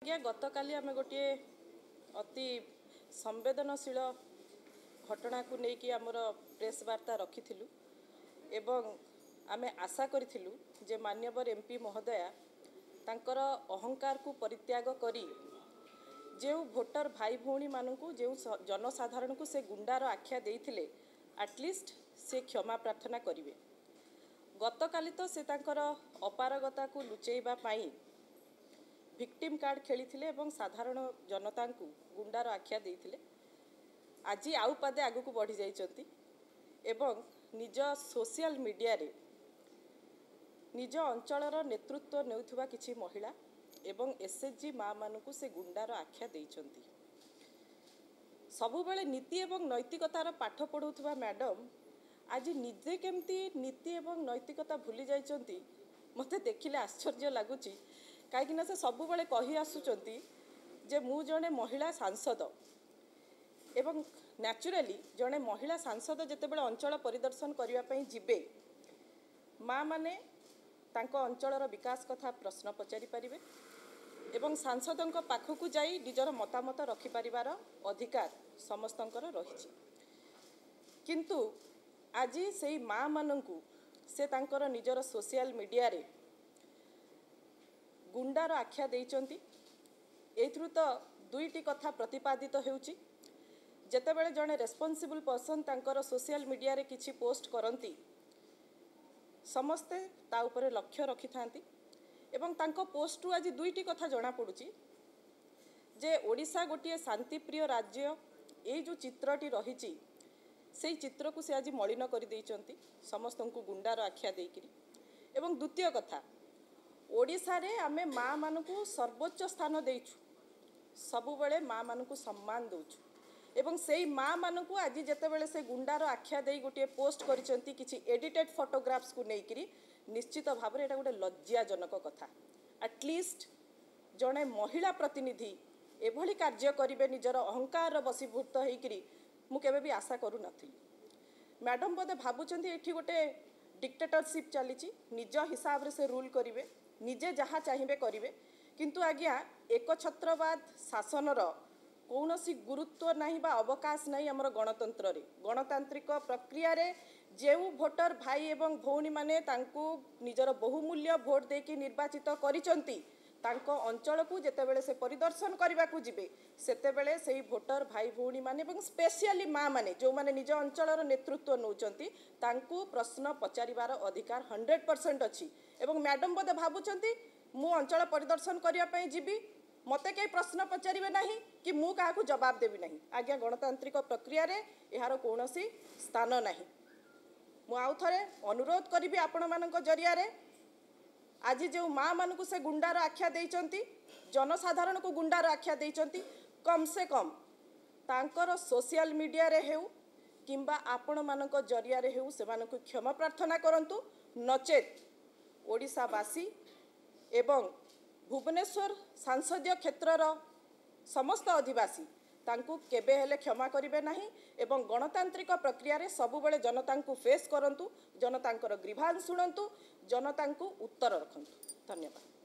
ଆଜ୍ଞା, ଗତକାଲି ଆମେ ଗୋଟିଏ ଅତି ସମ୍ବେଦନଶୀଳ ଘଟଣାକୁ ନେଇକି ଆମର ପ୍ରେସ୍ ବାର୍ତ୍ତା ରଖିଥିଲୁ ଏବଂ ଆମେ ଆଶା କରିଥିଲୁ ଯେ ମାନ୍ୟବର ଏମ୍ ପି ମହୋଦୟା ତାଙ୍କର ଅହଙ୍କାରକୁ ପରିତ୍ୟାଗ କରି ଯେଉଁ ଭୋଟର ଭାଇ ଭଉଣୀମାନଙ୍କୁ, ଯେଉଁ ଜନସାଧାରଣଙ୍କୁ ସେ ଗୁଣ୍ଡାର ଆଖ୍ୟା ଦେଇଥିଲେ, ଆଟଲିଷ୍ଟ ସେ କ୍ଷମା ପ୍ରାର୍ଥନା କରିବେ। ଗତକାଲି ତ ସେ ତାଙ୍କର ଅପାରଗତାକୁ ଲୁଚେଇବା ପାଇଁ ଭିକ୍ଟିମ୍ କାର୍ଡ଼ ଖେଳିଥିଲେ ଏବଂ ସାଧାରଣ ଜନତାଙ୍କୁ ଗୁଣ୍ଡାର ଆଖ୍ୟା ଦେଇଥିଲେ। ଆଜି ଆଉ ପାଦେ ଆଗକୁ ବଢ଼ିଯାଇଛନ୍ତି ଏବଂ ନିଜ ସୋସିଆଲ ମିଡ଼ିଆରେ ନିଜ ଅଞ୍ଚଳର ନେତୃତ୍ୱ ନେଉଥିବା କିଛି ମହିଳା ଏବଂ ଏସ୍ ଏଚ୍ ଜି ମାଆମାନଙ୍କୁ ସେ ଗୁଣ୍ଡାର ଆଖ୍ୟା ଦେଇଛନ୍ତି। ସବୁବେଳେ ନୀତି ଏବଂ ନୈତିକତାର ପାଠ ପଢ଼ାଉଥିବା ମ୍ୟାଡ଼ମ୍ ଆଜି ନିଜେ କେମିତି ନୀତି ଏବଂ ନୈତିକତା ଭୁଲି ଯାଇଛନ୍ତି, ମୋତେ ଦେଖିଲେ ଆଶ୍ଚର୍ଯ୍ୟ ଲାଗୁଛି। କାହିଁକିନା ସେ ସବୁବେଳେ କହି ଆସୁଛନ୍ତି ଯେ ମୁଁ ଜଣେ ମହିଳା ସାଂସଦ, ଏବଂ ନ୍ୟାଚୁରାଲି ଜଣେ ମହିଳା ସାଂସଦ ଯେତେବେଳେ ଅଞ୍ଚଳ ପରିଦର୍ଶନ କରିବା ପାଇଁ ଯିବେ, ମାଆମାନେ ତାଙ୍କ ଅଞ୍ଚଳର ବିକାଶ କଥା ପ୍ରଶ୍ନ ପଚାରି ପାରିବେ ଏବଂ ସାଂସଦଙ୍କ ପାଖକୁ ଯାଇ ନିଜର ମତାମତ ରଖିପାରିବାର ଅଧିକାର ସମସ୍ତଙ୍କର ରହିଛି। କିନ୍ତୁ ଆଜି ସେଇ ମାଆମାନଙ୍କୁ ସେ ତାଙ୍କର ନିଜର ସୋସିଆଲ ମିଡ଼ିଆରେ ଗୁଣ୍ଡାର ଆଖ୍ୟା ଦେଇଛନ୍ତି। ଏଇଥିରୁ ତ ଦୁଇଟି କଥା ପ୍ରତିପାଦିତ ହେଉଛି। ଯେତେବେଳେ ଜଣେ ରେସ୍ପନ୍ସିବୁଲ୍ ପର୍ସନ୍ ତାଙ୍କର ସୋସିଆଲ ମିଡ଼ିଆରେ କିଛି ପୋଷ୍ଟ କରନ୍ତି, ସମସ୍ତେ ତା ଉପରେ ଲକ୍ଷ୍ୟ ରଖିଥାନ୍ତି, ଏବଂ ତାଙ୍କ ପୋଷ୍ଟରୁ ଆଜି ଦୁଇଟି କଥା ଜଣାପଡ଼ୁଛି ଯେ ଓଡ଼ିଶା ଗୋଟିଏ ଶାନ୍ତିପ୍ରିୟ ରାଜ୍ୟ, ଏଇ ଯେଉଁ ଚିତ୍ରଟି ରହିଛି ସେଇ ଚିତ୍ରକୁ ସେ ଆଜି ମଳିନ କରିଦେଇଛନ୍ତି ସମସ୍ତଙ୍କୁ ଗୁଣ୍ଡାର ଆଖ୍ୟା ଦେଇକରି। ଏବଂ ଦ୍ୱିତୀୟ କଥା, ଓଡ଼ିଶାରେ ଆମେ ମାଆମାନଙ୍କୁ ସର୍ବୋଚ୍ଚ ସ୍ଥାନ ଦେଇଛୁ, ସବୁବେଳେ ମାଆମାନଙ୍କୁ ସମ୍ମାନ ଦେଉଛୁ, ଏବଂ ସେଇ ମାଆମାନଙ୍କୁ ଆଜି ଯେତେବେଳେ ସେ ଗୁଣ୍ଡାର ଆଖ୍ୟା ଦେଇ ଗୋଟିଏ ପୋଷ୍ଟ କରିଛନ୍ତି କିଛି ଏଡ଼ିଟେଡ଼ ଫଟୋଗ୍ରାଫ୍ସକୁ ନେଇକରି, ନିଶ୍ଚିତ ଭାବରେ ଏଇଟା ଗୋଟେ ଲଜ୍ଜାଜନକ କଥା। ଆଟଲିଷ୍ଟ ଜଣେ ମହିଳା ପ୍ରତିନିଧି ଏଭଳି କାର୍ଯ୍ୟ କରିବେ ନିଜର ଅହଙ୍କାରର ବଶୀଭୂତ ହେଇକରି, ମୁଁ କେବେ ବି ଆଶା କରୁନଥିଲି। ମ୍ୟାଡ଼ମ୍ ବୋଧେ ଭାବୁଛନ୍ତି ଏଠି ଗୋଟେ ଡିକ୍ଟେଟରସିପ୍ ଚାଲିଛି, ନିଜ ହିସାବରେ ସେ ରୁଲ୍ କରିବେ, ନିଜେ ଯାହା ଚାହିଁବେ କରିବେ। କିନ୍ତୁ ଆଜ୍ଞା, ଏକଛତ୍ରବାଦ ଶାସନର କୌଣସି ଗୁରୁତ୍ୱ ନାହିଁ ବା ଅବକାଶ ନାହିଁ ଆମର ଗଣତନ୍ତ୍ରରେ। ଗଣତାନ୍ତ୍ରିକ ପ୍ରକ୍ରିୟାରେ ଯେଉଁ ଭୋଟର ଭାଇ ଏବଂ ଭଉଣୀମାନେ ତାଙ୍କୁ ନିଜର ବହୁମୂଲ୍ୟ ଭୋଟ ଦେଇକି ନିର୍ବାଚିତ କରିଛନ୍ତି, ତାଙ୍କ ଅଞ୍ଚଳକୁ ଯେତେବେଳେ ସେ ପରିଦର୍ଶନ କରିବାକୁ ଯିବେ, ସେତେବେଳେ ସେଇ ଭୋଟର ଭାଇ ଭଉଣୀମାନେ ଏବଂ ସ୍ପେସିଆଲି ମାଆମାନେ, ଯେଉଁମାନେ ନିଜ ଅଞ୍ଚଳର ନେତୃତ୍ୱ ନେଉଛନ୍ତି, ତାଙ୍କୁ ପ୍ରଶ୍ନ ପଚାରିବାର ଅଧିକାର 100% ଅଛି। ଏବଂ ମ୍ୟାଡ଼ମ୍ ବୋଧେ ଭାବୁଛନ୍ତି ମୁଁ ଅଞ୍ଚଳ ପରିଦର୍ଶନ କରିବା ପାଇଁ ଯିବି, ମୋତେ କେହି ପ୍ରଶ୍ନ ପଚାରିବେ ନାହିଁ କି ମୁଁ କାହାକୁ ଜବାବ ଦେବି ନାହିଁ। ଆଜ୍ଞା, ଗଣତାନ୍ତ୍ରିକ ପ୍ରକ୍ରିୟାରେ ଏହାର କୌଣସି ସ୍ଥାନ ନାହିଁ। ମୁଁ ଆଉ ଥରେ ଅନୁରୋଧ କରିବି ଆପଣମାନଙ୍କ ଜରିଆରେ, ଆଜି ଯେଉଁ ମାଆମାନଙ୍କୁ ସେ ଗୁଣ୍ଡାର ଆଖ୍ୟା ଦେଇଛନ୍ତି, ଜନସାଧାରଣଙ୍କୁ ଗୁଣ୍ଡାର ଆଖ୍ୟା ଦେଇଛନ୍ତି, କମ୍ ସେ କମ୍ ତାଙ୍କର ସୋସିଆଲ ମିଡ଼ିଆରେ ହେଉ କିମ୍ବା ଆପଣମାନଙ୍କ ଜରିଆରେ ହେଉ ସେମାନଙ୍କୁ କ୍ଷମା ପ୍ରାର୍ଥନା କରନ୍ତୁ। ନଚେତ୍ ଓଡ଼ିଶାବାସୀ ଏବଂ ଭୁବନେଶ୍ୱର ସାଂସଦୀୟ କ୍ଷେତ୍ରର ସମସ୍ତ ଅଧିବାସୀ ତାଙ୍କୁ କେବେ ହେଲେ କ୍ଷମା କରିବେ ନାହିଁ। ଏବଂ ଗଣତାନ୍ତ୍ରିକ ପ୍ରକ୍ରିୟାରେ ସବୁବେଳେ ଜନତାଙ୍କୁ ଫେସ୍ କରନ୍ତୁ, ଜନତାଙ୍କର ଗ୍ରିଭାନ୍ସ ଶୁଣନ୍ତୁ, ଜନତାଙ୍କୁ ଉତ୍ତର ରଖନ୍ତୁ। ଧନ୍ୟବାଦ।